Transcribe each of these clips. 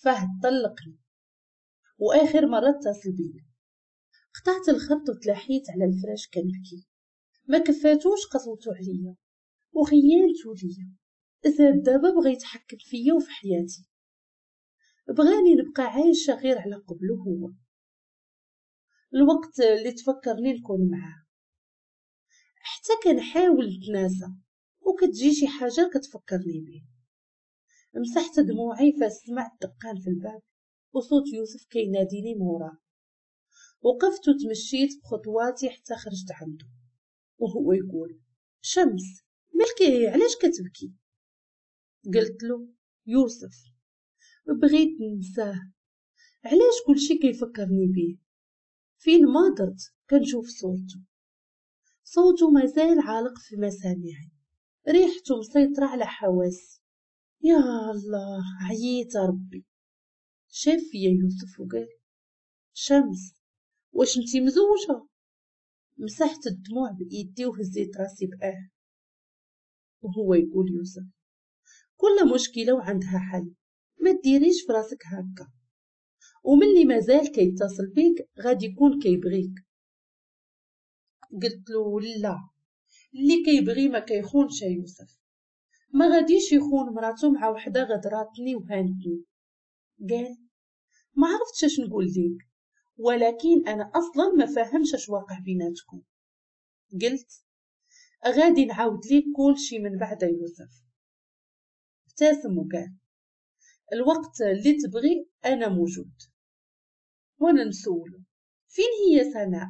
فهد طلقني واخر مرة اتصل بيا. قطعت الخط وتلاحيت على الفراش كنبكي. ما كفاتوش قسوتو عليا وخيانتو ليا، زاد دابا بغى يتحكم فيا وفي حياتي، بغاني نبقى عايشه غير على قبله هو. الوقت اللي تفكرني نكون معاه حتى كنحاول نتناسى وكتجي شي حاجة كتفكرني به. مسحت دموعي فسمعت دقان في الباب وصوت يوسف كيناديني موراه. وقفت وتمشيت بخطواتي حتى خرجت عنده وهو يقول شمس مالكي علاش كتبكي؟ قلت له يوسف بغيت ننساه، علاش كلشي كيفكرني به؟ فين ما درت كنشوف صورته، صوته مازال عالق في مسامعي، ريحته مسيطرة على حواسي. يا الله عييت ربي. شاف فيا يوسف وقال شمس واش انتي مزوجة؟ مسحت الدموع بإيدي وهزيت راسي بآه. وهو يقول يوسف كل مشكلة وعندها حل، ما ديريش في راسك هكا، وملي مازال كيتصل بيك غادي يكون كيبغيك. قلت له لا، اللي كيبغي ما كيخونش يا يوسف، ما غاديش يخون مراته مع وحده غدراتني وهانتني. قال ما عرفتش اش نقول ليك، ولكن انا اصلا ما فاهمش اش واقع بيناتكم. قلت غادي نعاود ليك كلشي من بعد يوسف. ابتسم وقال الوقت اللي تبغي انا موجود. وانا نسولو فين هي سناء؟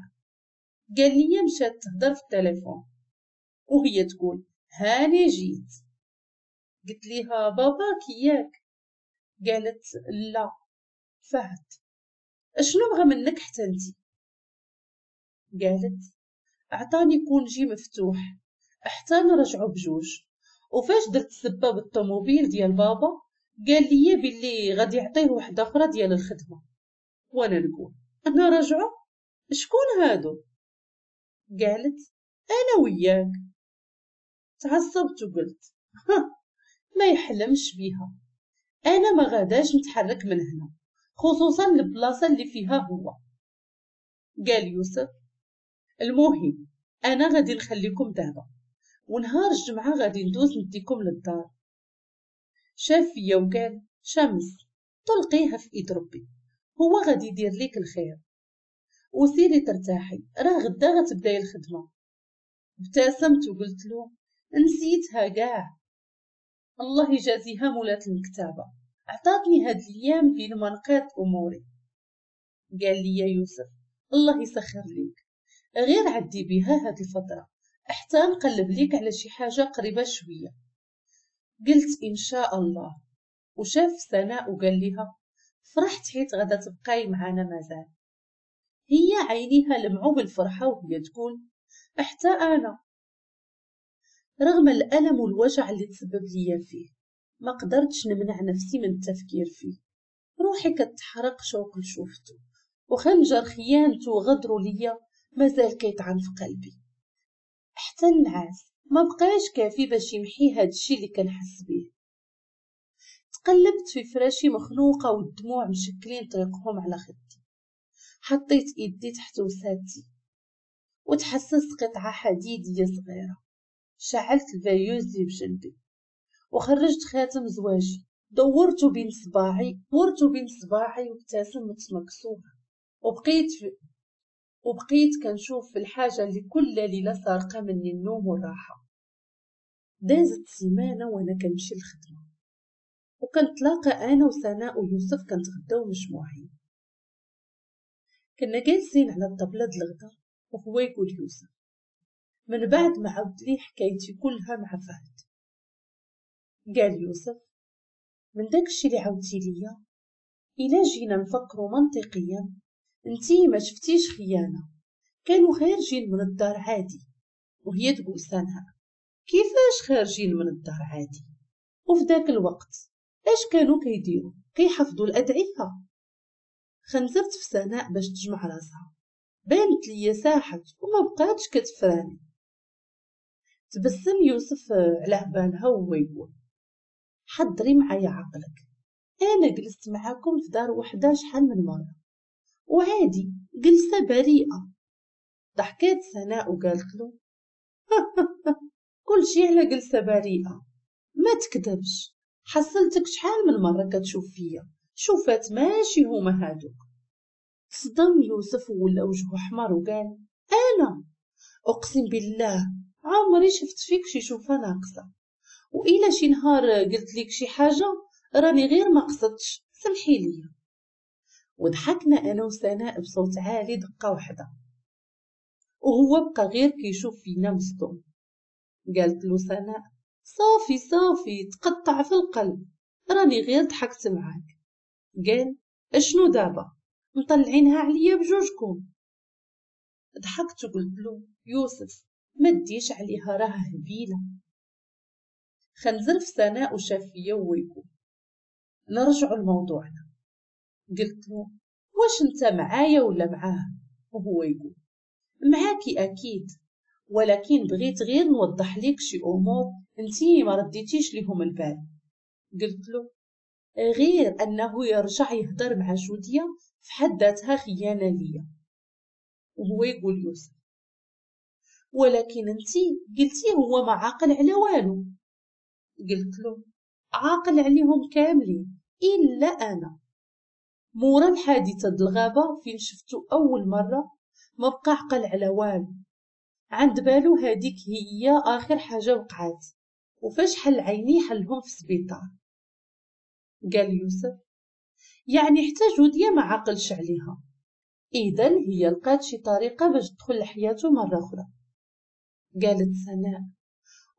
قال لي مشات تهضر في التليفون وهي تقول هاني جيت. قلت ليها باباك ياك؟ قالت لا فهد. اشنو بغى منك حتى انتي؟ قالت عطاني congé مفتوح حتى نرجعو بجوج، وفاش درت السبه بالطوموبيل ديال بابا قال لي باللي غادي يعطيه وحده اخرى ديال الخدمة. وانا نقول انا رجعو شكون هادو؟ قالت انا وياك. تعصبت وقلت ما يحلمش بيها، انا ما غاداش نتحرك من هنا، خصوصا البلاصة اللي فيها هو. قال يوسف المهم انا غادي نخليكم دابا، ونهار الجمعة غادي ندوز نديكم للدار. شاف فيا وقال شمس طلقيها في ايد ربي، هو غادي يدير ليك الخير، وسيري ترتاحي راه غدا غتبداي الخدمة. ابتسمت وقلت له نسيتها كاع، الله يجازيها مولات المكتبة، عطاتني هاد الايام بين ما نقاد اموري. قال لي يا يوسف الله يسخر ليك، غير عدي بها هاد الفترة حتى نقلب ليك على شي حاجة قريبه شوية. قلت ان شاء الله. وشاف سناء وقال لها فرحت حيت غدا تبقاي معانا مازال. هي عينيها لمعوا بالفرحه وهي تقول حتى انا. رغم الالم والوجع اللي تسبب ليا فيه ما قدرتش نمنع نفسي من التفكير فيه. روحي كتحرق شوق لشوفته، وخنجر خيانته وغدره ليا مازال كيطعن في قلبي. حتى النعاس ما بقاش كافي باش يمحي هاد الشي اللي كنحس بيه. تقلبت في فراشي مخنوقه والدموع مشكلين طريقهم على خدي. حطيت ايدي تحت وسادتي وتحسست قطعه حديديه صغيرة. شعلت ال veilleuse اللي بجنبي وخرجت خاتم زواجي، دورته بين صباعي وابتسمت مكسورة. وبقيت كنشوف في الحاجة اللي كل ليلة سارقه مني النوم والراحة. دازت سيمانه وانا كنمشي للخدمة، وكنتلاقى انا وسناء ويوسف كنتغداو مجموعين. كنا جالسين على الطبلة د الغدا وهو يقول يوسف من بعد ما عاود لي حكايتي كلها مع فهد. قال يوسف من داكشي اللي عاودتي ليا الا جينا نفكروا منطقيا انتي ما شفتيش خيانة، كانوا خارجين من الدار عادي. وهي تقول سناء كيفاش خارجين من الدار عادي؟ وفي داك الوقت اش كانوا كيديروا؟ كيحفظوا الادعية. خنزرت في سناء باش تجمع راسها، بانت ليا ساحت وما بقاتش كتفراني. تبسم يوسف على بالها وهو يقول حضري معايا عقلك، انا جلست معاكم في دار وحده شحال من مرة وعادي، جلسه بريئة. ضحكات سناء وقالت له كل شي على جلسه بريئة، ما تكذبش، حصلتك شحال من مرة كتشوف فيا شوفات ماشي هما هادوك. صدم يوسف ولا وجهه احمر وقال انا اقسم بالله عمري شفت فيك شي شوفه ناقصه، وإلا شي نهار قلت لك شي حاجة راني غير ما قصدتش، سمحي لي. وضحكنا انا وسناء بصوت عالي دقه واحدة، وهو بقى غير كيشوف فينا مصدوم. قالت له سناء صافي صافي تقطع في القلب، راني غير ضحكت معاك. قال اشنو دابا مطلعينها عليا بجوجكم؟ ضحكت وقلت له يوسف ما ديش عليها راه هبيله. خنزر في سناء وشاف فيا ويقول نرجعوا لموضوعنا. قلت له واش انت معايا ولا معاه؟ وهو يقول معاكي اكيد، ولكن بغيت غير نوضح لك شي امور انتي ما رديتيش ليهم البال. قلت له غير انه يرجع يهضر مع جوديا في حد ذاتها خيانة ليا. وهو يقول يوسف ولكن انتي قلتي هو ما عاقل على والو. قلت له عاقل عليهم كاملين الا انا. مورا الحادثة د الغابة فين شفتو اول مرة ما بقى عقل على والو، عند بالو هذيك هي اخر حاجة وقعات، وفاش حل عيني حلهم في السبيطار. قال يوسف يعني حتى جوديا ما عقلش عليها، اذا هي لقات شي طريقه باش تدخل لحياته مرة اخرى. قالت سناء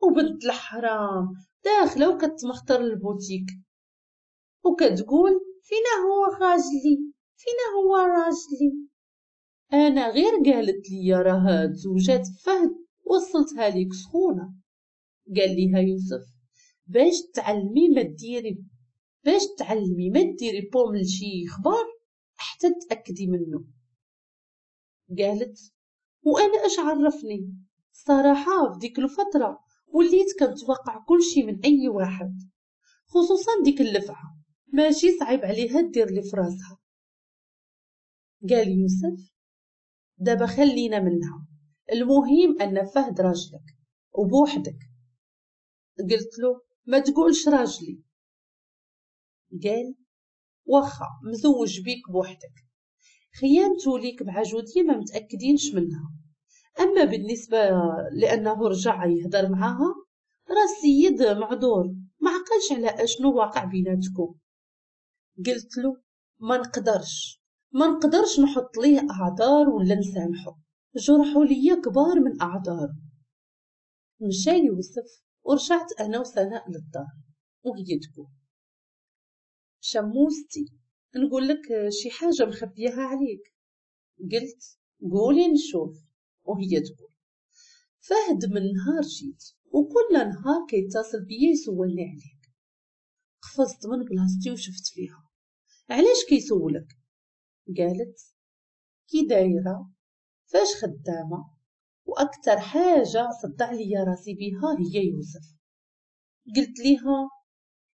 وبنت الحرام داخله وكتمخطر البوتيك وكتقول فينا هو راجلي، فينا هو راجلي. انا غير قالت لي راه تزوجات فهد وصلتها ليك سخونة. قال ليها يوسف باش تعلمي ما ديري، باش تعلمي ما ديري بوم لشي خبر حتى تاكدي منه. قالت وانا اش عرفني؟ صراحة في ديك الفترة وليت كنتوقع كل شي من اي واحد، خصوصا ديك اللفعه ماشي صعيب عليها دير لي فراسها. قال يوسف دابا خلينا منها، المهم ان فهد راجلك وبوحدك. قلت له ما تقولش راجلي. قال واخا مزوج بيك بوحدك، خيانته ليك مع جودية ما متأكدينش منها، اما بالنسبة لانه رجع يهضر معاها راه السيد معذور ما عقلش على اشنو واقع بيناتكم. قلت له ما نقدرش نحط ليه اعذار ولا نسامحه، جرحوا ليا كبار من اعذار. مشى يوسف ورجعت انا وسناء للدار وهي تقول شموستي نقول لك شي حاجة مخبيها عليك. قلت قولي نشوف. وهي تقول فهد من نهار جيت وكل نهار كيتصل بيا يسولني عليك. قفزت من بلاصتي وشفت فيها علاش كيسولك؟ قالت كي دايرة، فاش خدامه، واكثر حاجة صدع لي راسي بها هي يوسف. قلت ليها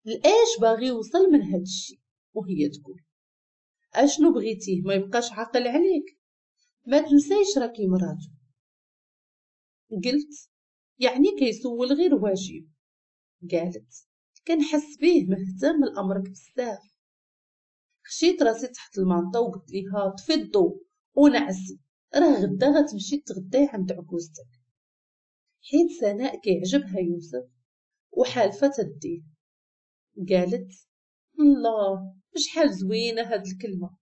لاش باغي يوصل من هاد الشيء؟ وهي تقول اشنو بغيتيه ما يبقاش عاقل عليك، ما تنسيش راكي مراتو. قلت يعني كيسول غير واجب. قالت كنحس به مهتم لامرك بزاف. خشيت راسي تحت المانطه وقلت ليها طفي الضو ونعسي، راه غدا غتمشي تغداي عند عكوزتك. حيت سناء كيعجبها يوسف وحالفه تديه. قالت الله شحال زوينة هاد الكلمة،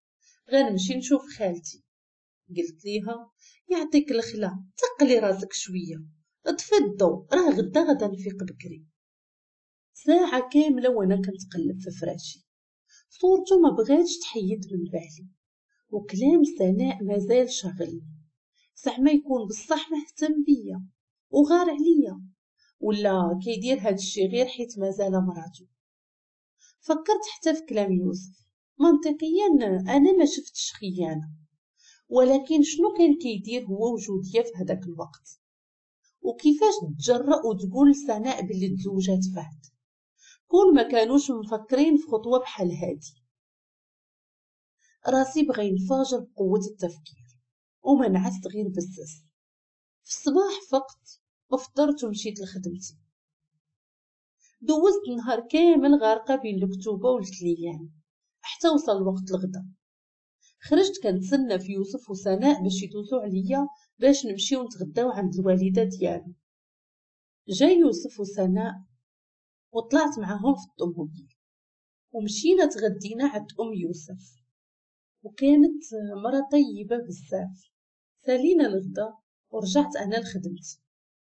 غنمشي نشوف خالتي. قلت ليها يعطيك الخلا تقلي راسك شوية، طفي الضو راه غدا غدا نفيق بكري. ساعة كاملة وانا كنتقلب في فراشي، صورته ما بغاتش تحيد من بالي، وكلام سناء مازال شاغلني. زعما يكون بصح مهتم بيا وغار عليا، ولا كيدير هاد الشي غير حيت مازال مراتو. فكرت حتى في كلام يوسف، منطقيا انا ما شفتش خيانة، ولكن شنو كان كيدير هو وجودية في هذاك الوقت؟ وكيفاش تجرأ وتقول سناء باللي تزوجات فهد؟ كون ما كانوش مفكرين في خطوة بحال هادي. راسي بغى ينفجر بقوة التفكير وما نعست غير بزز. في الصباح فقت وفطرت ومشيت لخدمتي. دوزت النهار كامل غارقة بين الكتوبة وال clients حتى وصل وقت الغدا. خرجت كنتسنى في يوسف وسناء باش يدوزو عليا باش نمشيو نتغداو عند الوالدة ديالو. جا يوسف وسناء وطلعت معاهم في الطوموبيل ومشينا تغدينا عند ام يوسف، وكانت مرة طيبة بزاف. سالينا الغدا ورجعت انا لخدمتي،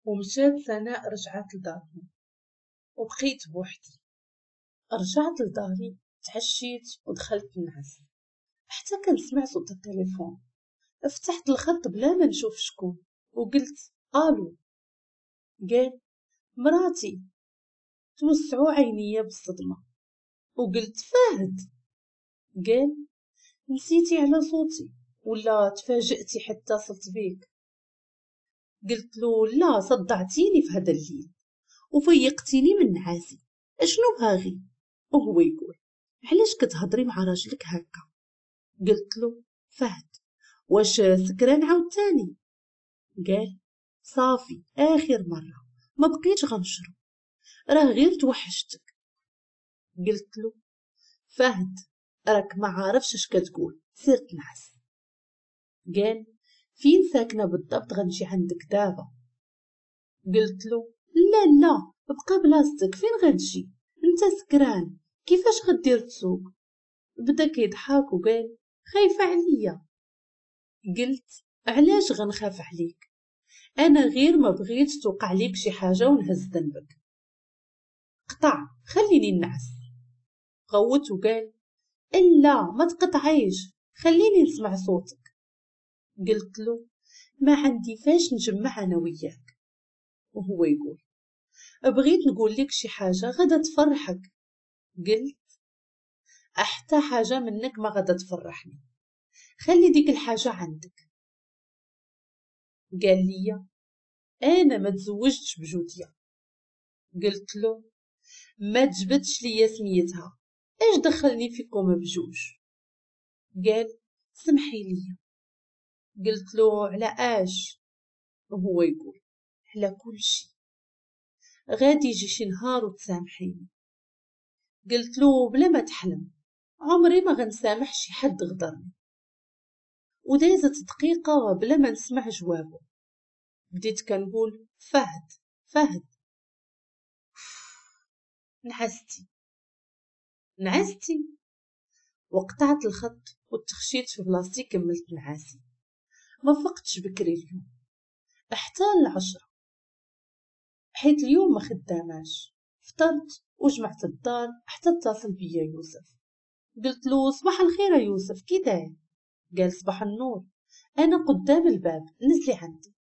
ومشات سناء رجعت لدارهم وبقيت بوحدي. رجعت لداري تعشيت ودخلت نعس حتى كنسمع صوت التليفون. فتحت الخط بلا ما نشوف شكون وقلت الو. قال مراتي. توسعوا عينيا بالصدمة وقلت فهد. قال نسيتي على صوتي ولا تفاجئتي حتى اتصلت بيك؟ قلت له لا، صدعتيني في هذا الليل وفيقتيني من نعاسي، اشنو باغي؟ وهو يقول علاش كتهضري مع راجلك هكا؟ قلت له فهد واش سكران عاوتاني؟ قال صافي اخر مرة ما بقيتش غنشرب، راه غير توحشتك. قلت له فهد راك ما عارفش اش كتقول، سير تنعس. قال فين ساكنة بالضبط غنجي عندك دابا؟ قلت له لا لا بقى بلاصتك، فين غتجي انت سكران، كيفاش غدير تسوق؟ بدا كيضحك وقال خايفة عليا. قلت علاش غنخاف عليك، انا غير ما بغيتش توقع ليك شي حاجة ونهز ذنبك. قطع خليني نعس. غوت وقال الا ما تقطعيش، خليني نسمع صوتك. قلت له ما عندي فاش نجمع انا وياك. وهو يقول بغيت نقول لك شي حاجة غدا تفرحك. قلت حتى حاجة منك ما غدا تفرحني، خلي ديك الحاجة عندك. قال لي انا ما تزوجتش بجوديه. قلت له ما تجبدش ليا سميتها، اش دخلني فيكم بجوج؟ قال سمحي لي. قلت له على اش؟ وهو يقول على كل شيء، غادي يجي شي نهار وتسامحيني. قلت له بلا ما تحلم، عمري ما غنسامح شي حد غدرني. ودازت دقيقة بلا ما نسمع جوابه. بديت كنقول فهد فهد. نعستي نعستي. وقطعت الخط وتخشيت في بلاصتي، كملت نعاسي. ما فقتش بكري اليوم حتى 10، حيت اليوم ما خداماش. فطرت وجمعت الدار حتى اتصل بيا يوسف. قلت له صباح الخير يا يوسف، كي داير؟ قال صباح النور، انا قدام الباب نزلي عندي.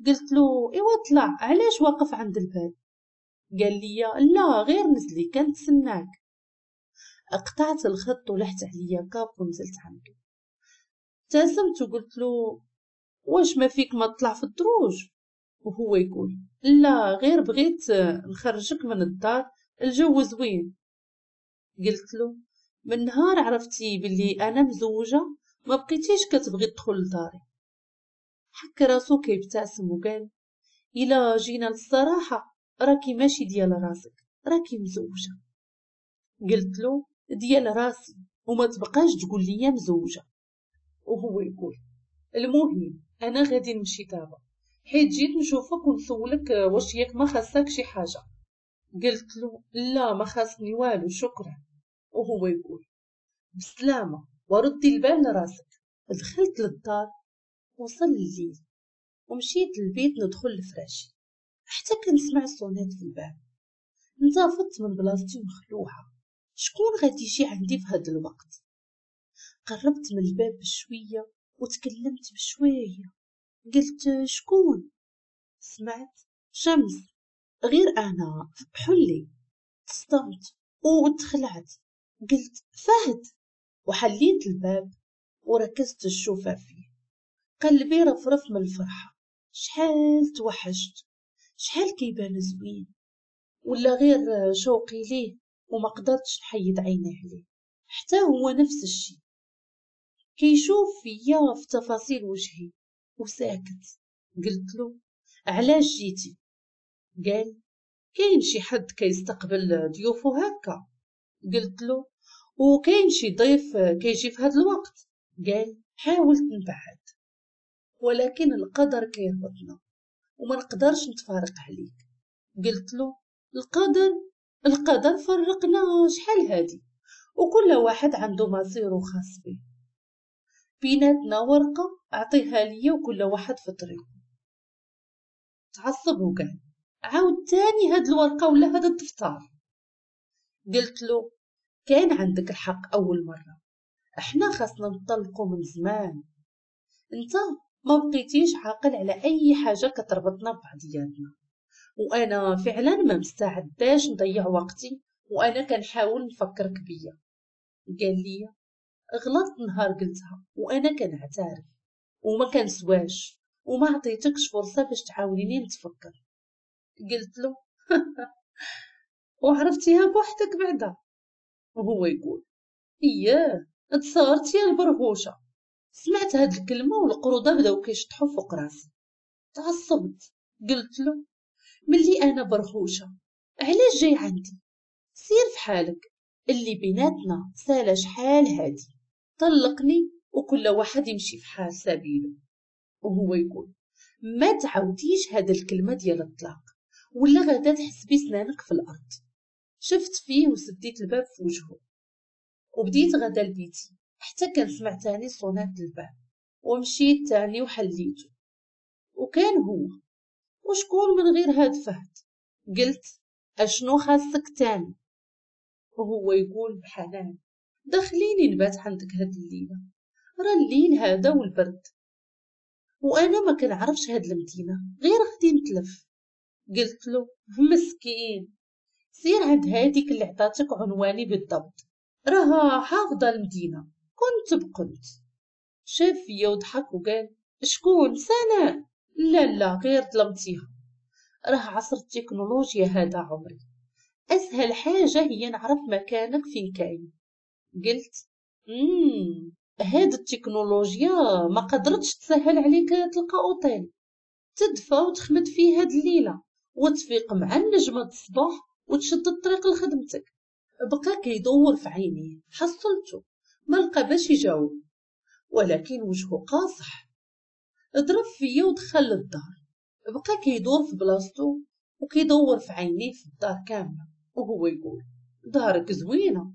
قلت له ايوا طلع، علاش واقف عند الباب؟ قال لي لا غير نزلي كنتسناك. قطعت الخط ولحت عليا كاب ونزلت عنده. ابتسمت وقلت له واش ما فيك ما تطلع في الدروج؟ وهو يقول لا غير بغيت نخرجك من الدار، الجو زوين. قلت له من نهار عرفتي بلي انا مزوجه ما بقيتيش كتبغي تدخل لداري. حك راسو كيبتسم وقال الا جينا للصراحه راكي ماشي ديال راسك، راكي مزوجه. قلت له ديال راسي وما تبقاش تقول لي مزوجه. وهو يقول المهم انا غادي نمشي دابا حيت جيت نشوفك ونسولك واش ياك ما خاصك شي حاجة. قلت له لا ما خاصني والو شكرا. وهو يقول بسلامه وردي البال لراسك. دخلت للدار، وصل الليل ومشيت للبيت ندخل لفراشي حتى كنسمع الصونات في الباب. انتفضت من بلاصتي مخلوعه، شكون غادي يجي عندي في هذا الوقت؟ قربت من الباب بشوية وتكلمت بشوية، قلت شكون؟ سمعت شمس، غير انا بحلي. تصدمت وتخلعت، قلت فهد، وحليت الباب وركزت الشوفه فيه. قلبي رفرف من الفرحة، شحال توحشت، شحال كيبان زوين، ولا غير شوقي ليه وما قدرتش نحيد عيني عليه. حتى هو نفس الشيء، كيشوف فيا في تفاصيل وجهي وساكت. قلت له علاش جيتي؟ قال كاين شي حد كيستقبل ضيوفو هكا. قلت له وكاين شي ضيف كيجي في هذا الوقت؟ قال حاولت نبعد ولكن القدر كيربطنا وما نقدرش نتفارق عليك. قلت له القدر فرقنا شحال هادي، وكل واحد عنده مصيره خاص به، بيناتنا ورقة اعطيها ليا وكل واحد في طريقه. تعصب وقال عاود تاني هاد الورقة ولا هاد الدفتر. قلت له كان عندك الحق أول مرة، احنا خاصنا نطلقوا من زمان، انت ما بقيتيش عاقل على اي حاجة كتربطنا ببعضياتنا، وانا فعلا ما مستعداش نضيع وقتي وانا كنحاول نفكرك بيا. قال لي غلطت نهار قلتها وانا كنعترف وما كنسواش وما عطيتكش فرصة باش تعاونيني نتفكر. قلت له وعرفتيها بوحدك بعدا. وهو يقول اياه تصارتي يا البرهوشه. سمعت هاد الكلمة والقروضه بداو كيشطحوا فوق راسي. تعصبت، قلت له ملي انا برهوشه علاش جاي عندي؟ سير في حالك، اللي بيناتنا سالا شحال هادي، طلقني وكل واحد يمشي في حال سبيله. وهو يقول ما تعاوديش هاد الكلمة ديال الطلاق ولا غدا تحسبي سنانك في الارض. شفت فيه وسديت الباب في وجهه وبديت غدا لبيتي، حتى كنسمع تاني صونات الباب ومشيت تاني وحليته، وكان هو. وشكون من غير هاد فهد؟ قلت اشنو خاصك تاني؟ وهو يقول بحنان دخليني نبات عندك هاد الليلة، راه الليل هذا والبرد وانا ما كنعرفش هاد المدينة غير غادي نتلف. قلت له مسكين سير عند هاديك اللي عطاتك عنواني بالضبط، راها حافظه المدينة. كنت بقنت. شاف فيا وضحك وقال شكون؟ سناء؟ لا لا غير ظلمتيها، راه عصر التكنولوجيا هذا عمري، اسهل حاجة هي نعرف مكانك فين كاين. قلت هاد التكنولوجيا ما قدرتش تسهل عليك تلقى اوتيل تدفى وتخمد فيه هاد الليلة وتفيق مع النجمة الصباح وتشد الطريق لخدمتك. بقى كيدور في عينيه، حصلته ما لقى باش يجاوب، ولكن وجهه قاصح. ضرب فيا ودخل للدار، بقى كيدور في بلاصتو وكيدور في عينيه في الدار كاملة وهو يقول دارك زوينة.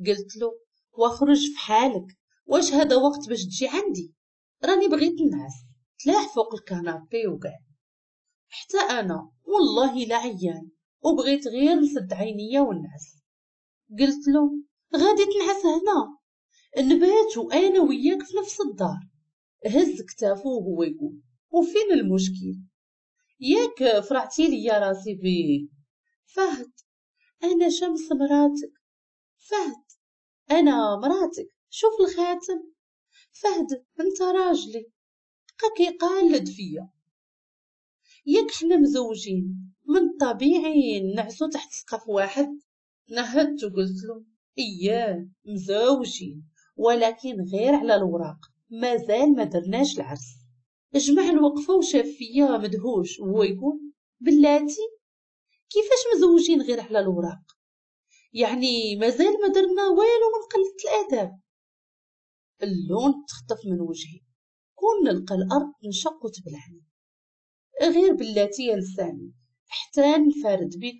قلت له واخرج في حالك، واش هذا وقت باش تجي عندي؟ راني بغيت نعس. تلاح فوق الكنابي وقال حتى انا والله لا عيان وبغيت غير نسد عينيا ونعس. قلت له غادي تنعس هنا؟ نبات وانا وياك في نفس الدار. هز كتافو وهو يقول وفين المشكل؟ ياك فرعتي لي يا راسي بيه. فهد انا شمس مراتك، فهد انا مراتك، شوف الخاتم، فهد انت راجلي. بقى كيقالد فيا، ياك حنا مزوجين من الطبيعي نعسو تحت سقف واحد. نهدت وقلت له اياه مزوجين ولكن غير على الوراق، مازال ما درناش العرس. جمع الوقفة وشاف فيا مدهوش وهو يقول بلاتي كيفاش مزوجين غير على الوراق؟ يعني مازال ما درنا والو من قلة الاداب. اللون تخطف من وجهي، كون نلقى الارض تنشق وتبلعني. غير بلاتي يا لساني حتى نفارد بك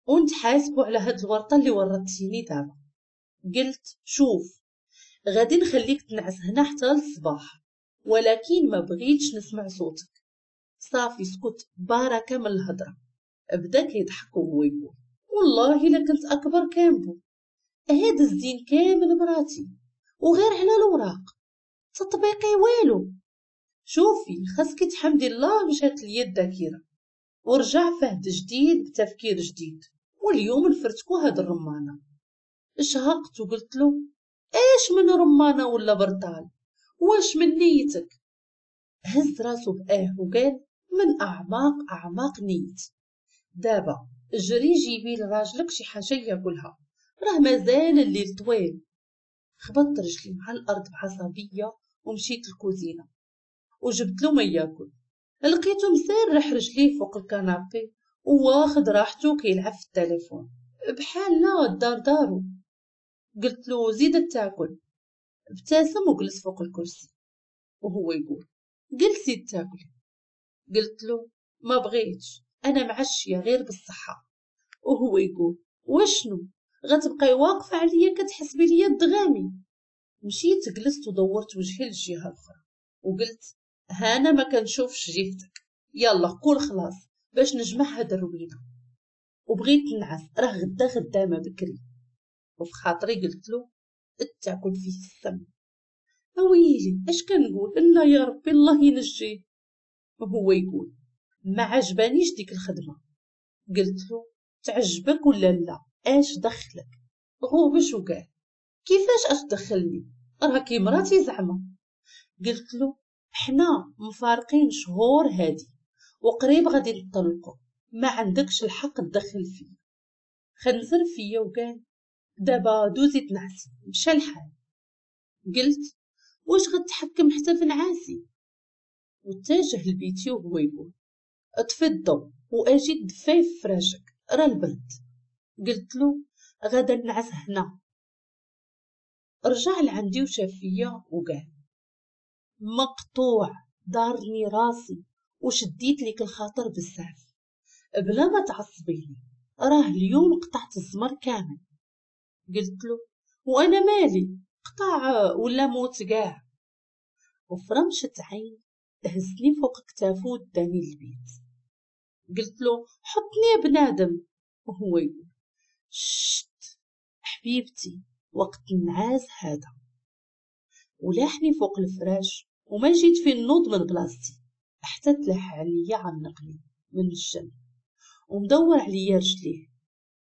ونتحاسبوا على هاد الورطة اللي ورطتيني دابا. قلت شوف غادي نخليك تنعس هنا حتى للصباح، ولكن ما بغيتش نسمع صوتك. صافي سكت بركة من الهضرة. بدا كيضحك وهو يقول والله الا كنت اكبر كامبو، هاد الزين كامل مراتي وغير على الوراق، تطبيقي والو. شوفي خاصك تحمدي الله مشات ليا الذاكرة ورجع فهد جديد بتفكير جديد، واليوم نفرتكو هاد الرمانه. شهقت وقلت له ايش من رمانه ولا برطال؟ واش من نيتك؟ هز راسو بآه وقال من اعماق اعماق نيتي. دابا جري جيبي لراجلك شي حاجة ياكلها راه مازال الليل طويل. خبطت رجلي مع الارض بعصبيه ومشيت للكوزينه وجبت له ما ياكل. لقيته مسرح رجليه فوق ال canapé وواخد راحته كيلعب في التليفون بحال لا الدار دارو. قلت له زيد تاكل. ابتسم وجلس فوق الكرسي وهو يقول جلسي تاكلي. قلت له ما بغيتش، انا معشيه غير بالصحة. وهو يقول وشنو غتبقاي واقفة عليا كتحسبي ليا الدغامي؟ مشيت جلست ودورت وجهي للجهة الاخرى وقلت هانا ما كنشوفش جهتك، يلا كل خلاص باش نجمع هاد الروينه، وبغيت نعس راه غدا خدامه بكري. وفي خاطري قلت له اتاكل فيه السم. اويلي اش كنقول، لا يا ربي الله ينجيه. وهو يقول ما عجبانيش ديك الخدمة. قلت له تعجبك ولا لا، اش دخلك؟ غوبش وقال كيفاش اش دخلني، راه كي مراتي زعما. قلت له حنا مفارقين شهور هادي وقريب غادي نطلقوا، ما عندكش الحق تدخل فيا. خنزر فيا وقال دابا دوزي تنعسي، مشى الحال. قلت واش غتحكم حتى في نعاسي؟ واتجه لبيتي وهو يقول اطفي الضو واجي تدفاي في فراشك راه البرد. قلت له غدا نعس هنا. رجع لعندي وشاف فيا وقال مقطوع، دارني راسي وشديت لك الخاطر بزاف، بلا ما تعصبيني راه اليوم قطعت الزمر كامل. قلت له وانا مالي، قطع ولا موت كاع. وفرمشة عين هزني فوق كتافو وداني للبيت. قلت له حطني يا بنادم. وهو يقول شت حبيبتي وقت النعاس هذا. ولاحني فوق الفراش وما جيت في النوض من بلاصتي حتى تلاح عليا عنقني من الجنب ومدور عليا رجليه.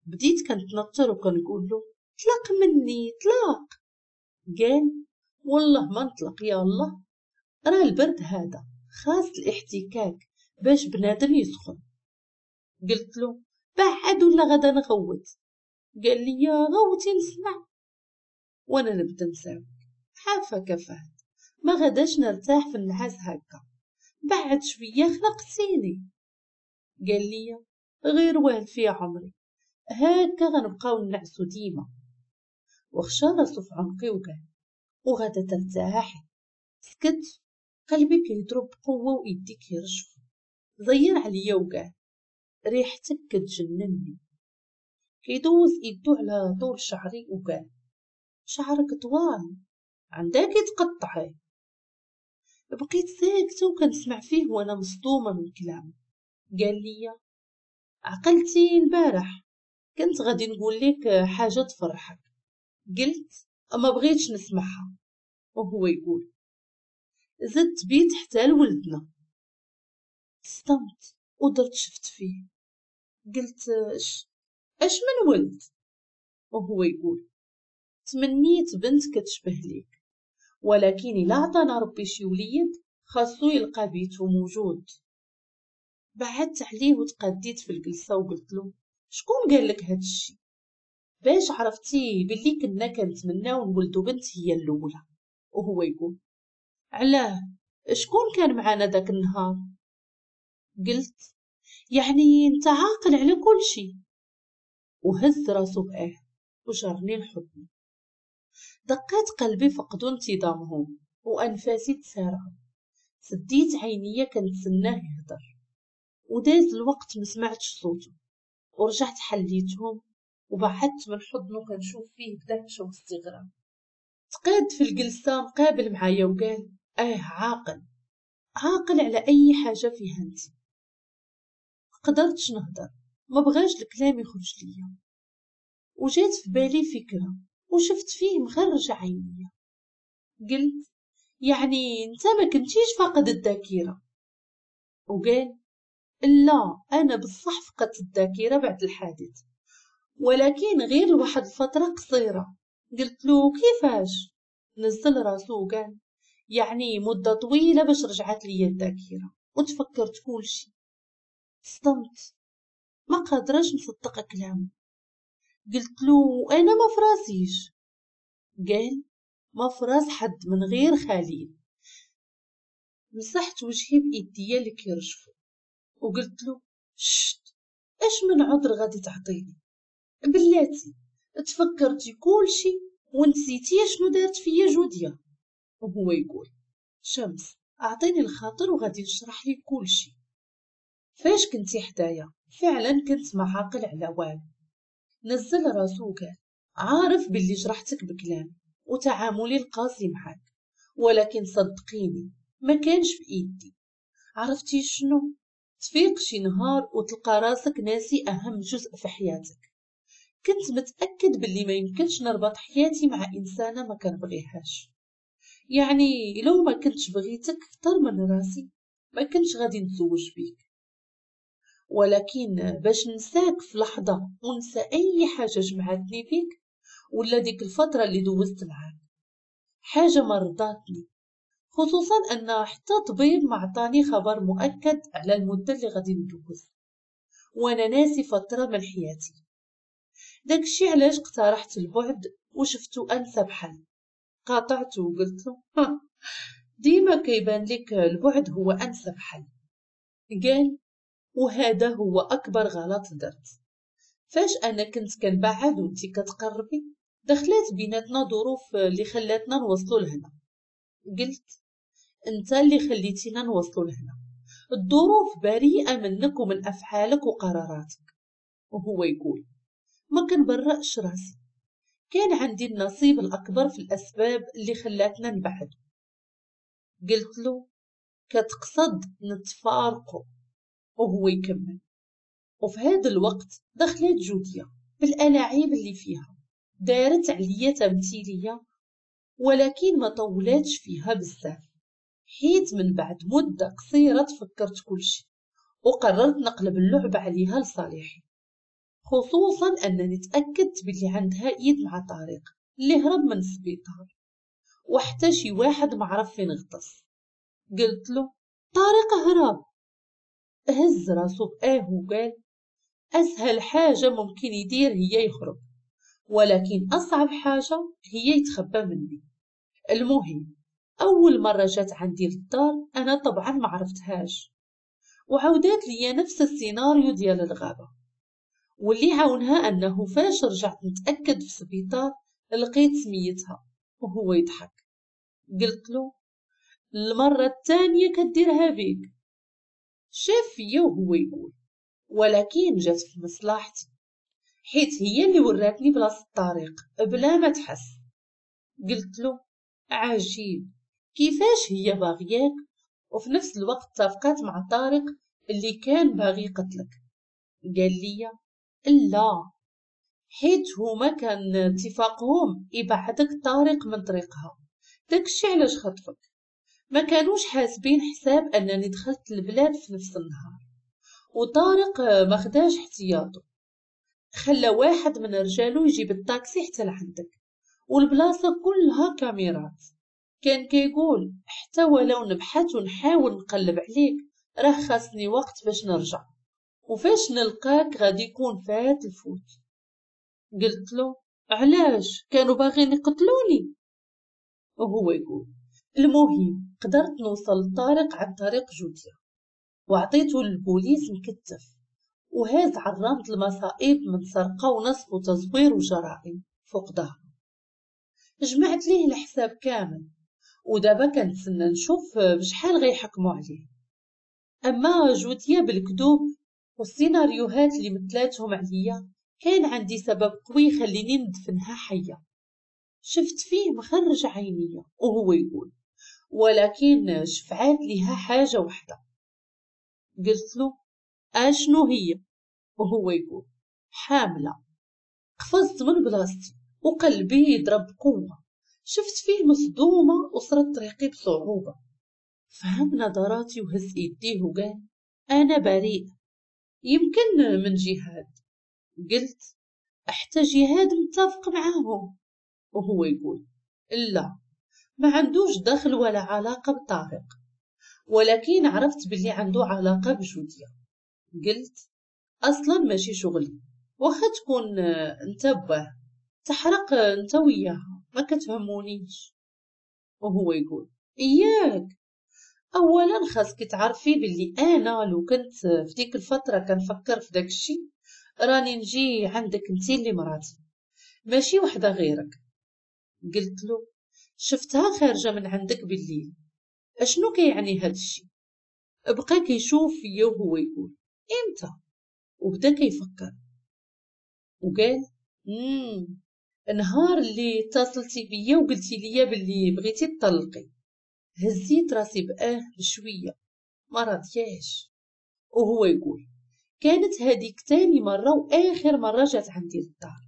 بديت كنتنطر وكنقول له طلق مني طلق. قال والله ما نطلق، يا الله راه البرد هذا خاص الاحتكاك باش بنادم يسخن. قلت له بعد ولا غدا نغوت. قال لي غوتي نسمع. وانا نبدا نساوك عافاك فهد، ما غداش نرتاح في النعاس هكا، بعد شوية خلقتيني. قال لي غير والف يا عمري، هكا غنبقاو نعسو ديما. وخشى راسو في عنقي وقال وغدا ترتاحي. سكت، قلبي كيضرب بقوة وايدي كيرجفو. زير عليا وقال ريحتك كتجنني. كيدوز ايدو على طول شعري وقال شعرك طوال عندك تقطعي. بقيت ساكته وكنسمع فيه وانا مصدومة من كلامه. قال لي عقلتي البارح كنت غادي نقول لك حاجة تفرحك. قلت ما بغيتش نسمعها. وهو يقول زدت بيت حتى لولدنا. صدمت ودرت شفت فيه. قلت اش من ولد؟ وهو يقول تمنيت بنت كتشبه ليك، ولكن الا عطانا ربي شي وليد خاصو يلقى بيتو موجود. بعدت عليه وتقديت في الجلسة وقلت له شكون قال لك هاد الشي؟ باش عرفتي باللي كنا كنتمناو نولدو بنت هي الاولى؟ وهو يقول علاه شكون كان معانا داك النهار؟ قلت يعني انت عاقل على كل شي. وهز راسو باه وجرني لحضني. دقات قلبي فقدوا انتظامهم وانفاسي تسارعوا. سديت عينيا كنتسناه يهضر، وداز الوقت ما سمعتش صوته. ورجعت حليتهم وبعدت من حضنه كنشوف فيه بدهشه واستغراب. تقاد في الجلسة مقابل معايا وقال عاقل عاقل على اي حاجة فيها انت. قدرتش نهضر، ما بغاش الكلام يخرج ليا. وجات في بالي فكرة وشفت فيه مخرج عينيا. قلت يعني انت ما كنتيش فاقد الذاكرة؟ وقال لا انا بصح فقدت الذاكرة بعد الحادث، ولكن غير لواحد الفترة قصيرة. قلت له كيفاش؟ نزل راسو وقال يعني مده طويلة باش رجعت لي الذاكرة وتفكرت كلشي. صدمت، ما قادراش نصدق كلامه. قلت له انا ما فراسيش. قال ما فراس حد من غير خليل. مسحت وجهي بايديا اللي كيرجفوا وقلت له شت، اش من عذر غادي تعطيني؟ بلاتي تفكرتي كلشي ونسيتي شنو دارت فيا جوديا. وهو يقول شمس اعطيني الخاطر وغادي نشرح لك كلشي. فاش كنتي حدايا فعلا كنت ما عاقل على والو. نزل راسو وقال عارف باللي جرحتك بكلامي وتعاملي القاسي معاك، ولكن صدقيني ما كانش بايدي. عرفتي شنو؟ تفيق شي نهار وتلقى راسك ناسي اهم جزء في حياتك. كنت متاكد باللي ما يمكنش نربط حياتي مع انسانه ما كنبغيهاش، يعني لو ما كنتش بغيتك اكثر من راسي ما كنتش غادي نتزوج بيك، ولكن باش نساك في لحظة ونسى اي حاجة جمعتني بيك ولا ديك الفترة اللي دوزت معاك، حاجة ما رضاتني، خصوصا ان حتى طبيب ما عطاني خبر مؤكد على المدة اللي غادي ندوز وانا ناسي فترة من حياتي. داكشي علاش اقترحت البعد وشفتو انسب حل. قاطعته وقلت له ديما كيبان لك البعد هو انسب حل. قال وهذا هو اكبر غلط درت. فاش انا كنت كنبعد وانتي كتقربي دخلات بيناتنا ظروف اللي خلاتنا نوصلوا لهنا. قلت انت اللي خليتينا نوصلوا لهنا، الظروف بريئة منك ومن افعالك وقراراتك. وهو يقول ما كنبرأش راسي، كان عندي النصيب الاكبر في الاسباب اللي خلاتنا نبعد. قلت له كتقصد نتفارقوا؟ وهو يكمل وفي هذا الوقت دخلت جوديا بالألاعيب اللي فيها، دارت عليا تمثيلية ولكن ما طولاتش فيها بزاف، حيت من بعد مدة قصيرة تفكرت كلشي وقررت نقلب اللعبة عليها لصالحي، خصوصا أنني تأكدت بلي عندها إيد مع طارق اللي هرب من السبيطار وحتى شي واحد ما عرف فين غطس. قلت له طارق هرب. هز راسو بآه وقال أسهل حاجة ممكن يدير هي يهرب، ولكن أصعب حاجة هي يتخبى مني. المهم أول مرة جات عندي للدار أنا طبعا ما عرفتهاش، وعودات لي نفس السيناريو ديال الغابة، واللي عاونها أنه فاش رجعت نتأكد في السبيطار لقيت سميتها. وهو يضحك. قلت له المرة الثانية كديرها بيك. شاف فيا وهو يقول ولكن جات في مصلحتي، حيت هي اللي وراتني بلاصة الطريق بلا ما تحس. قلت له عجيب، كيفاش هي باغياك وفي نفس الوقت اتفقات مع طارق اللي كان باغي يقتلك؟ قال لي لا، حيت هما كان اتفاقهم يبعدك طارق من طريقها، داكشي علاش خطفك. ما كانوش حاسبين حساب انني دخلت البلاد في نفس النهار، وطارق ما خداش احتياطه، خلى واحد من رجالو يجيب الطاكسي حتى لعندك، والبلاصه كلها كاميرات. كان كيقول حتى ولو نبحث ونحاول نقلب عليك راه خاصني وقت باش نرجع، وفاش نلقاك غادي يكون فات الفوت. قلت له علاش كانوا باغيين يقتلوني؟ وهو يقول المهم قدرت نوصل لطارق عن طريق جوديا، وعطيته للبوليس مكتف وهاز عرامة المصائب من سرقة ونصب وتزوير وجرائم فوق ظهره. جمعت ليه الحساب كامل، ودابا كنتسنى نشوف بشحال غيحكموا عليه. اما جوديا بالكذوب والسيناريوهات اللي مثلاتهم عليا كان عندي سبب قوي يخليني ندفنها حيه. شفت فيه مخرج عينيا وهو يقول ولكن شفعات ليها حاجة وحده. قلت له اشنو هي؟ وهو يقول حامله. قفزت من بلاصتي وقلبي يضرب بقوة. شفت فيه مصدومة وصرت طريقي بصعوبة. فهم نظراتي وهز ايديه وقال انا بريء، يمكن من جهاد. قلت حتى جهاد متفق معاهم. وهو يقول لا، ما عندوش دخل ولا علاقة بطارق، ولكن عرفت باللي عنده علاقة بجوديا. قلت اصلا ماشي شغلي، واخا تكون انت باه تحرق انت وياها، ما كتهمونيش. وهو يقول اياك، اولا خاصك تعرفي باللي انا لو كنت في ديك الفترة كنفكر في داك الشيء راني نجي عندك انت اللي مراتي ماشي وحده غيرك. قلت له شفتها خارجه من عندك بالليل، اشنو كيعني هاد الشيء؟ بقى كيشوف فيا وهو يقول امتى، وبدا كيفكر وقال النهار اللي اتصلتي بيا وقلتي ليا باللي بغيتي تطلقي. هزيت راسي بآه بشوية ما راضياش. وهو يقول كانت هذيك تاني مرة واخر مرة جات عندي للدار،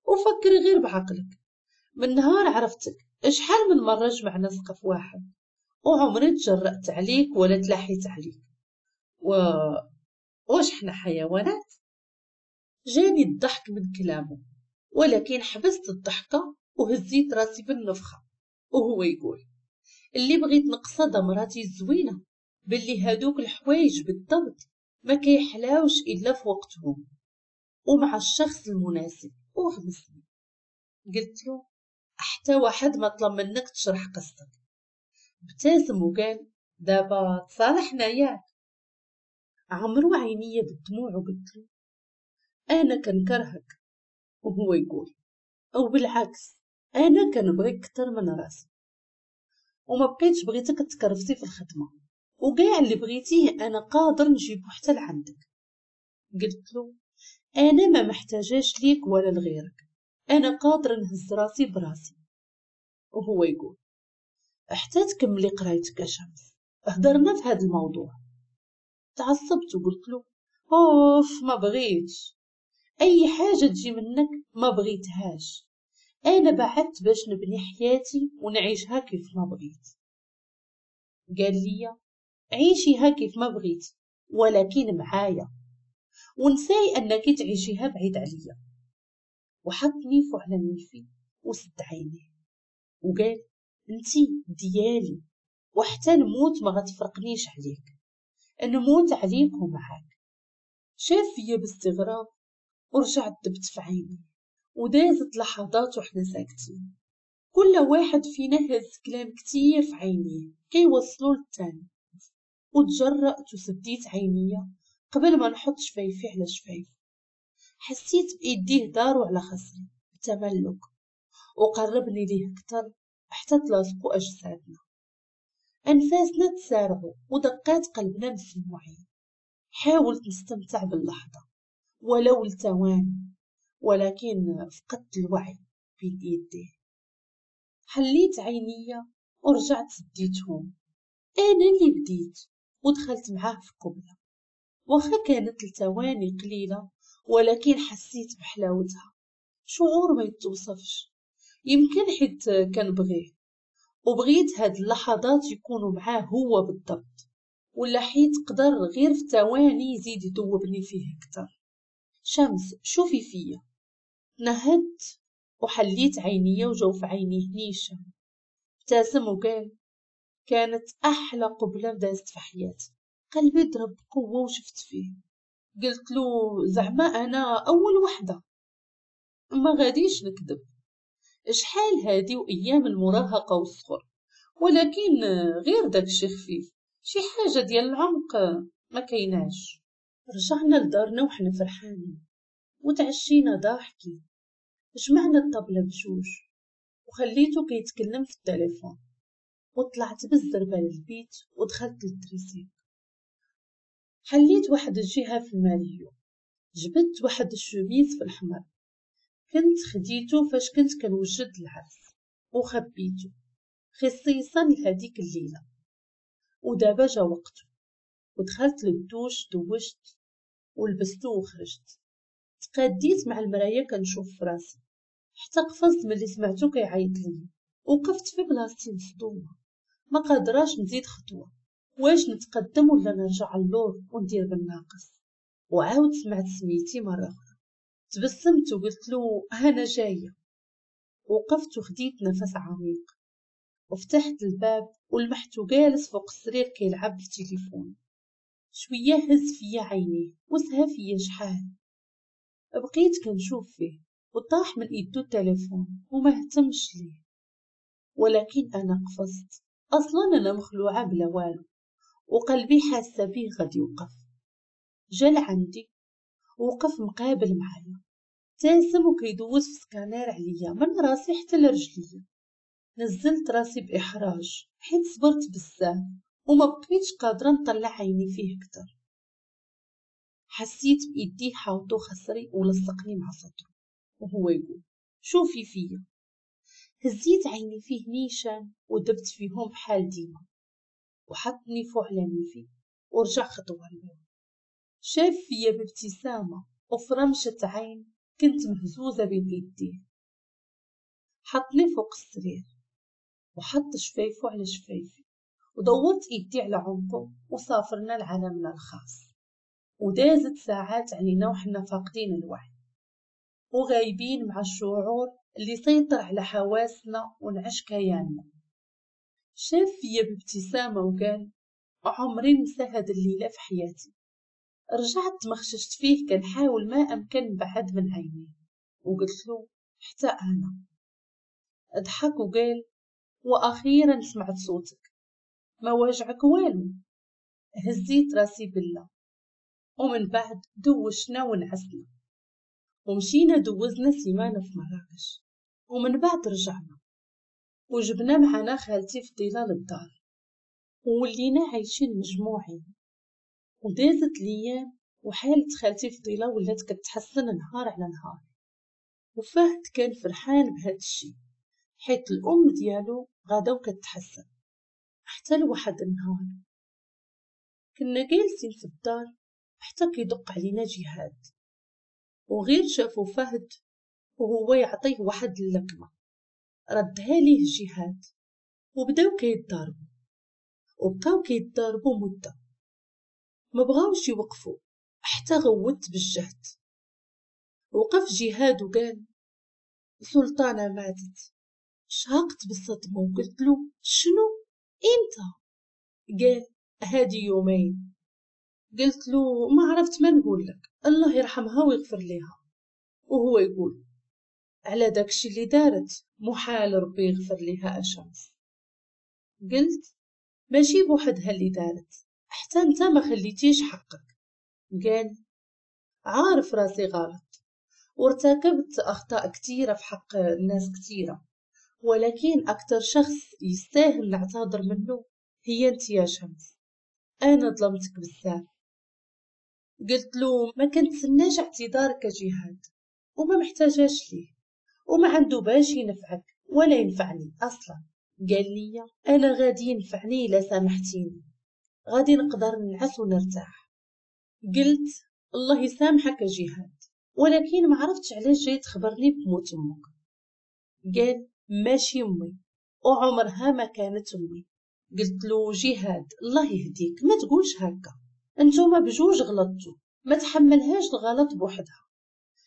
وفكري غير بعقلك، من نهار عرفتك شحال من مرة جمعنا سقف واحد وعمري تجرأت عليك ولا تلاحيت عليك، واش حنا حيوانات؟ جاني الضحك من كلامه، ولكن حبست الضحكة وهزيت راسي بالنفخة. وهو يقول اللي بغيت نقصد مراتي الزوينة باللي هادوك الحوايج بالضبط ما كيحلاوش إلا في وقتهم ومع الشخص المناسب. وغمسني. قلت له حتى واحد ما طلب منك تشرح قصتك. ابتسم وقال دابا تصالحنا ياك. عمرو عينيا بالدموع وقلت له انا كنكرهك. وهو يقول او بالعكس انا كنبغيك اكثر من راسي، وما بقيتش بغيتك تكرفسي في الخدمة، وكاع اللي بغيتيه انا قادر نجيبو حتى لعندك. قلت له انا ما محتاجاش ليك ولا لغيرك، انا قادر نهز راسي براسي. وهو يقول حتى تكملي قرايتك يا شمس، هضرنا في هذا الموضوع. تعصبت وقلت له اوف ما بغيتش اي حاجة تجي منك، ما بغيتهاش، انا بعدت باش نبني حياتي ونعيشها كيف ما بغيت. قال لي عيشيها كيف ما بغيتي ولكن معايا، ونساي انك تعيشيها بعيد عليا. وحط نيفو على نيفي وسد عينيه وقال انتي ديالي وحتى نموت ما غتفرقنيش عليك، نموت عليك ومعاك. شاف فيا باستغراب ورجعت دبت في عيني، ودازت لحظات وحنا ساكتين، كل واحد فينا هز كلام كتير في عينيه كيوصلو للتاني. وتجرأت وسديت عينيا قبل ما نحط شفايفي على شفايفي. حسيت بإيديه دارو على خصري بتملك وقربني ليه اكتر حتى تلاصقوا اجسادنا. انفاسنا تسارعوا ودقات قلبنا مسموعين. حاولت نستمتع باللحظة ولو لثواني، ولكن فقدت الوعي بين ايديه. حليت عينيا ورجعت سديتهم. انا اللي بديت ودخلت معاه في قبلة، واخا كانت لثواني قليلة ولكن حسيت بحلاوتها، شعور ما يتوصفش. يمكن حيت كنبغيه وبغيت هاد اللحظات يكونوا معاه هو بالضبط، ولا حيت قدر غير في ثواني يزيد يذوبني فيه اكثر. شمس شوفي فيا. نهدت وحليت عينيا وجو في عينيه نيشان. ابتسم وقال كانت احلى قبله دازت في حياتي. قلبي ضرب بقوة وشفت فيه. قلت له زعما انا اول وحده، ما غاديش نكذب، شحال هادي وايام المراهقة والصغر، ولكن غير داكشي خفيف، شي حاجة ديال العمق ما كايناش. رجعنا لدارنا وحنا فرحانين وتعشينا ضاحكين. جمعنا الطبلة بجوج وخليته كيتكلم في التليفون، وطلعت بالزربه للبيت ودخلت لل dressing. حليت واحد الجهة في الماريو، جبدت واحد الشوميز في الحمر كنت خديته فاش كنت كنوجد العرس وخبيته خصيصا لهديك الليلة، ودابا جا وقته. ودخلت للدوش دوشت ولبستو وخرجت. تقاديت مع المراية كنشوف في راسي حتى قفزت ملي سمعتو كيعيط لي. وقفت في بلاصتي مصدومة، ما قادراش نزيد خطوة، واش نتقدم ولا نرجع اللور وندير بالناقص. وعاود سمعت سميتي مرة اخرى. تبسمت وقلت له انا جاية. وقفت وخديت نفس عميق وفتحت الباب ولمحته جالس فوق السرير كيلعب في التليفون. شوية هز فيا عينيه وسها فيا شحال. بقيت كنشوف فيه وطاح من ايدو التليفون وما اهتمش ليه، ولكن انا قفزت. اصلا انا مخلوعه بلا والو وقلبي حاسه بيه غادي يوقف. جا لعندي وقف مقابل معايا، تاسم وكيدوز في سكانير عليا من راسي حتى لرجليا. نزلت راسي باحراج حيت صبرت بزاف وما بقيتش قادرة نطلع عيني فيه اكثر. حسيت بايديه حاوطو خصري ولصقني مع صدره وهو يقول شوفي فيا. هزيت عيني فيه نيشان ودبت فيهم بحال ديما، وحطني فوق على نيفي ورجع خطوة للور. شاف فيا بابتسامة وفرمشة عين كنت مهزوزة بين يديه. حطني فوق السرير وحط شفايفه على شفايفي ودورت ايدي على عنقه وسافرنا لعالمنا الخاص. ودازت ساعات علينا وحنا فاقدين الوعي وغايبين مع الشعور اللي سيطر على حواسنا ونعش كياننا. شاف فيا بابتسامة وقال عمري ننسى هاد الليلة في حياتي. رجعت تمخششت فيه كنحاول ما أمكن نبعد من عينيه وقلت له حتى أنا. ضحك وقال وأخيرا سمعت صوتك، ما واجعك والو. هزيت راسي بالله. ومن بعد دوشنا ونعسنا ومشينا دوزنا سيمانة في مراكش، ومن بعد رجعنا وجبنا معنا خالتي فضيلة للدار وولينا عايشين مجموعين. ودازت الايام وحالة خالتي فضيلة ولات كتحسن نهار على نهار، وفهد كان فرحان بهذا الشيء حيت الام ديالو غادا وكتحسن. حتى لواحد النهار كنا جالسين في الدار حتى كيدق علينا جهاد، وغير شافو فهد وهو يعطيه واحد اللكمة ردها ليه جهاد، وبداو كيتضاربوا وبقاو كيتضاربوا مدة ما بغاوش يوقفوا حتى غوت بالجهد. وقف جهاد وقال سلطانة ماتت. شهقت بالصدمة وقلت له شنو؟ امتى؟ قال هادي يومين. قلت له ما عرفت ما نقول لك، الله يرحمها ويغفر لها. وهو يقول على داكشي اللي دارت محال ربي يغفر لها أشمس. قلت ماشي بوحدها اللي دارت، حتى انت ما خليتيش حقك. قال عارف راسي غلط وارتكبت أخطاء كتيرة في حق الناس كتيرة، ولكن أكتر شخص يستاهل نعتذر منه هي انت يا شمس، أنا ظلمتك بزاف. قلت له ما كنتسناش اعتذارك جهاد وما محتاجاش ليه وما عنده باش ينفعك ولا ينفعني أصلا. قال لي أنا غادي ينفعني إلا سامحتيني، غادي نقدر نعس ونرتاح. قلت الله يسامحك جهاد، ولكن ما عرفتش علاش جاي تخبرني بموت امك. قال ماشي امي وعمرها ما كانت امي. قلت له جهاد الله يهديك ما تقولش هكا، انتوما بجوج غلطتوا، ما تحملهاش الغلط بوحدها،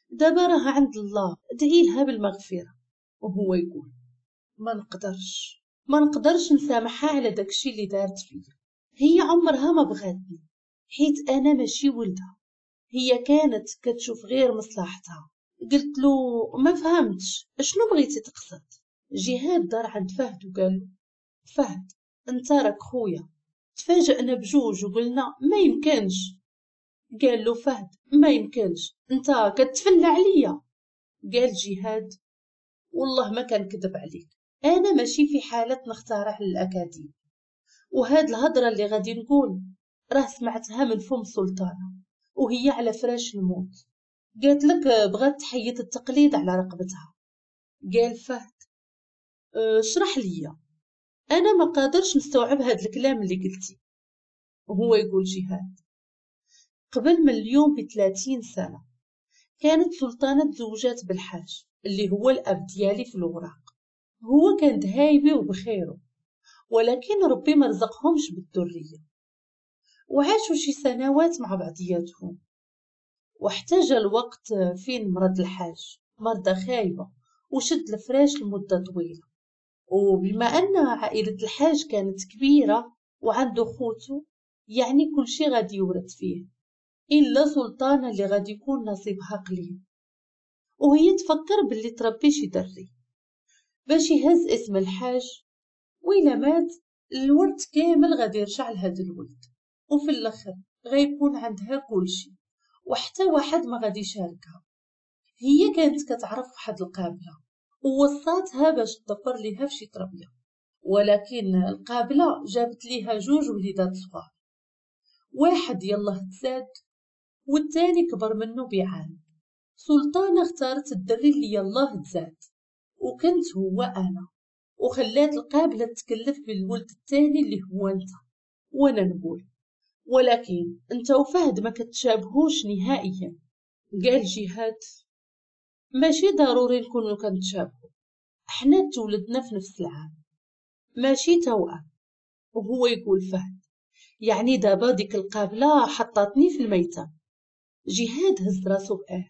دابا راها عند الله، ادعي لها بالمغفرة. وهو يقول ما نقدرش نسامحها على داكشي اللي دارت فيا، هي عمرها ما بغاتني حيت انا ماشي ولدها، هي كانت كتشوف غير مصلحتها. قلت له ما فهمتش شنو بغيتي تقصد. جهاد دار عند فهد وقال له فهد انت راك خويا. تفاجئنا بجوج وقلنا ما يمكنش. قال له فهد ما يمكنش انت كتفلى عليا. قال جهاد والله ما كنكذب عليك، انا ماشي في حالة نخترع الاكاذيب، وهاد الهضرة اللي غادي نقول راه سمعتها من فم سلطانه وهي على فراش الموت، قالت لك بغات تحيد التقليد على رقبتها. قال فهد اشرح لي انا ما قادرش نستوعب هاد الكلام اللي قلتي. وهو يقول جهاد قبل من اليوم ب30 سنة كانت سلطانة تزوجات بالحاج اللي هو الأب ديالي في الوراق، هو كان دهايبي وبخيره، ولكن ربي ما رزقهمش بالذرية، وعاشوا شي سنوات مع بعضياتهم. واحتاج الوقت فين مرض الحاج مرضى خايبة وشد الفراش لمدة طويلة، وبما أن عائلة الحاج كانت كبيرة وعنده خوته يعني كل شي غادي يورث فيه إلا سلطانة اللي غادي يكون نصيبها قليل. وهي تفكر باللي تربي شي دري باش يهز اسم الحاج، وإلا مات الورث كامل غادي يرجع لهذا الولد، وفي الاخر غيكون عندها كلشي وحتى واحد ما غادي يشاركها. هي كانت كتعرف واحد القابلة ووصاتها باش تدبر ليها في شي تربيه، ولكن القابلة جابت ليها جوج وليدات صغار، واحد يلاه تزاد والثاني كبر منه بعام. سلطانه اختارت الدري اللي يلاه تزاد وكنت هو انا، وخلات القابلة تكلف بالولد الثاني اللي هو انت. وانا نقول ولكن انت وفهد ما كتشابهوش نهائيا. قال جهاد ماشي ضروري نكونوا كنتشابهوا، احنا تولدنا في نفس العام ماشي توأم. وهو يقول فهد يعني دابا ديك القابلة حطاتني في الميتم. جهاد هز راسو بآه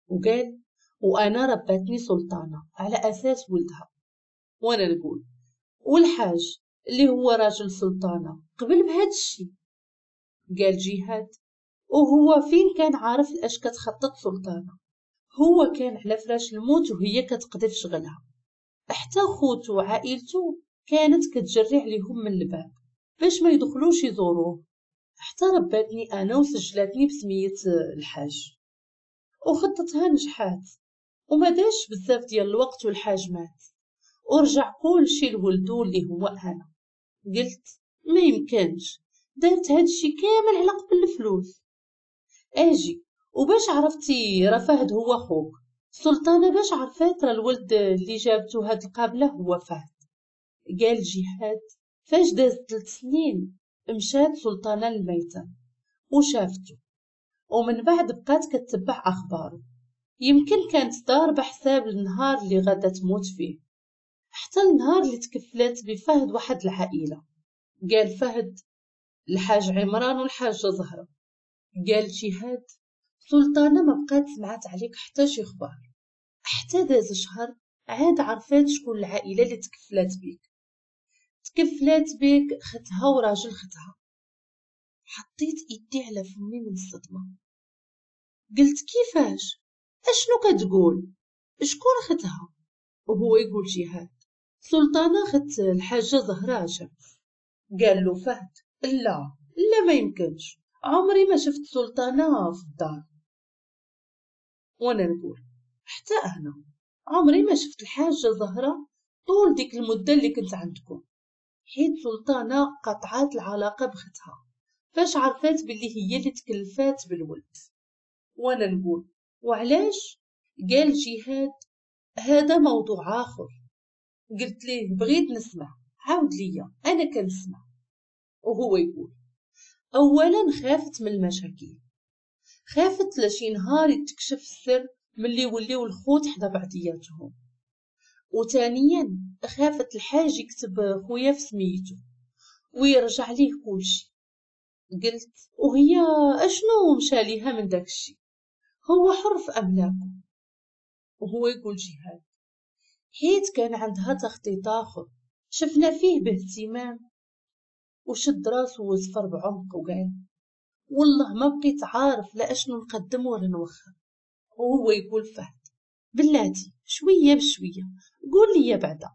وقال وانا رباتني سلطانه على اساس ولدها. وانا نقول والحاج اللي هو راجل سلطانه قبل بهذا الشيء؟ قال جهاد وهو فين كان عارف اش كتخطط سلطانه؟ هو كان على فراش الموت وهي كتقضي في شغلها، حتى خوتو وعائلته كانت كتجري عليهم من الباب باش ما يدخلوش يزوروه، حتى رباتني انا وسجلاتني بسميه الحاج، وخطتها نجحات وما داش بزاف ديال الوقت والحاج مات ورجع كلشي لولدو اللي هو انا. قلت ما يمكنش دارت هادشي كامل على قبل الفلوس. اجي وباش عرفتي راه فهد هو خوك؟ سلطانه باش عرفات راه الولد اللي جابتو هاد القابلة هو فهد؟ قال جهاد فاش داز 3 سنين مشات سلطانه للميتم وشافتو، ومن بعد بقات كتبع اخباره، يمكن كانت ضاربه حساب النهار اللي غادا تموت فيه، حتى النهار اللي تكفلات بفهد واحد العائلة. قال فهد الحاج عمران والحاجة زهره. قال جهاد سلطانه ما بقات سمعت عليك حتى شي خبار، حتى داز شهر عاد عرفات شكون العائلة اللي تكفلات بيك. تكفلات بيك ختها وراجل ختها. حطيت ايدي على فمي من الصدمة، قلت كيفاش؟ اشنو كتقول؟ شكون ختها؟ وهو يقول جهاد سلطانه خت الحاجة زهره شمس. قال له فهد لا لا ما يمكنش، عمري ما شفت سلطانه في الدار. وانا نقول حتى انا عمري ما شفت الحاجة زهره طول ديك المدة اللي كنت عندكم، حيت سلطانه قطعات العلاقة بختها فاش عرفات باللي هي اللي تكلفات بالولد. وانا نقول وعلاش؟ قال جهاد هذا موضوع اخر. قلت ليه بغيت نسمع، عاود ليا انا كنسمع. وهو يقول اولا خافت من المشاكل، خافت لشي نهار يتكشف السر ملي يوليو الخوت حدا بعضياتهم، وثانيا خافت الحاج يكتب خويا في سميتو ويرجع ليه كلشي. قلت وهي اشنو مشى ليها من داكشي؟ هو حر في املاكو. وهو يقول جهاد حيت كان عندها تخطيط اخر شفنا فيه باهتمام. وشد راسو وزفر بعمق وقال والله ما بقيت عارف لا اشنو نقدم ولا نوخر. وهو يقول فهد بلاتي شوية بشوية قول لي بعدا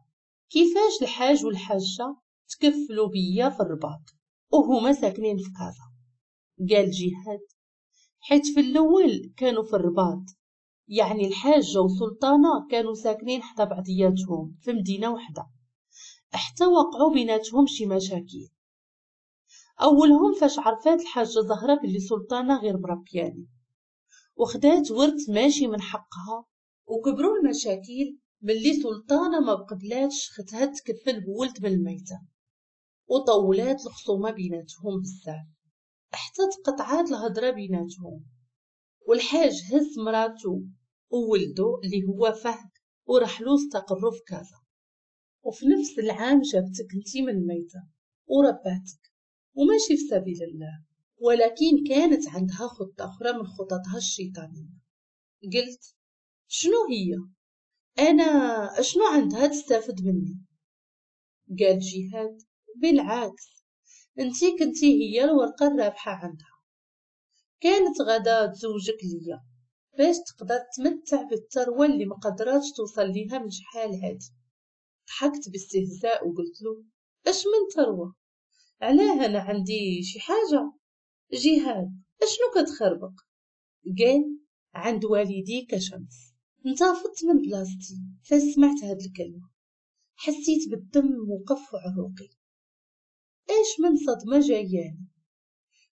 كيفاش الحاج والحاجة تكفلوا بيا في الرباط وهما ساكنين في كازا؟ قال جهاد حيت في الاول كانوا في الرباط، يعني الحاجة وسلطانه كانوا ساكنين حدا بعضياتهم في مدينة وحده، حتى وقعوا بيناتهم شي مشاكل. اولهم فاش عرفات الحاجة زهره باللي سلطانه غير مربياني وخدات ورث ماشي من حقها، وكبروا المشاكل ملي سلطانه ما بقبلاتش ختها تكفل بولد من الميتة، وطولات الخصومة بيناتهم بزاف حتى تقطعات الهضرة بيناتهم. والحاج هز مراتو وولدو اللي هو فهد ورحلو استقروا في كازا. وفي نفس العام جابتك انتي من الميتة ورباتك، وماشي في سبيل الله، ولكن كانت عندها خطة أخرى من خططها الشيطانية. قلت شنو هي؟ أنا شنو عندها تستافد مني؟ قال جهاد بالعكس، انتي كنتي هي الورقة الرابحة عندها، كانت غدا تزوجك ليا باش تقدر تمتع بالثروة اللي ما قدراتش توصل ليها من شحال هادي. ضحكت باستهزاء وقلت له اش من ثروة؟ علاه انا عندي شي حاجة؟ جهاد اشنو كتخربق؟ قال عند والديك شمس. انتفضت من بلاصتي فاش سمعت هاد الكلمة، حسيت بالدم وقف في عروقي. اش من صدمة جاياني؟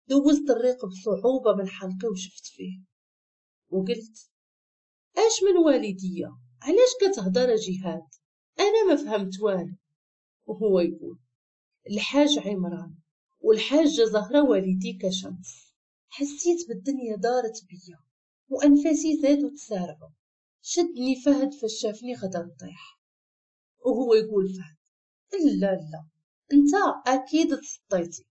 دوزت الريق بصعوبة من حلقي وشفت فيه وقلت اش من والدية؟ علاش كتهضر جهاد؟ انا ما فهمت والو. وهو يقول الحاج عمران والحاجة زهرة والديك شمس. حسيت بالدنيا دارت بيا وانفاسي زادوا تسارعوا. شدني فهد فاش شافني غدا نطيح، وهو يقول فهد لا لا انت اكيد تسطيتي.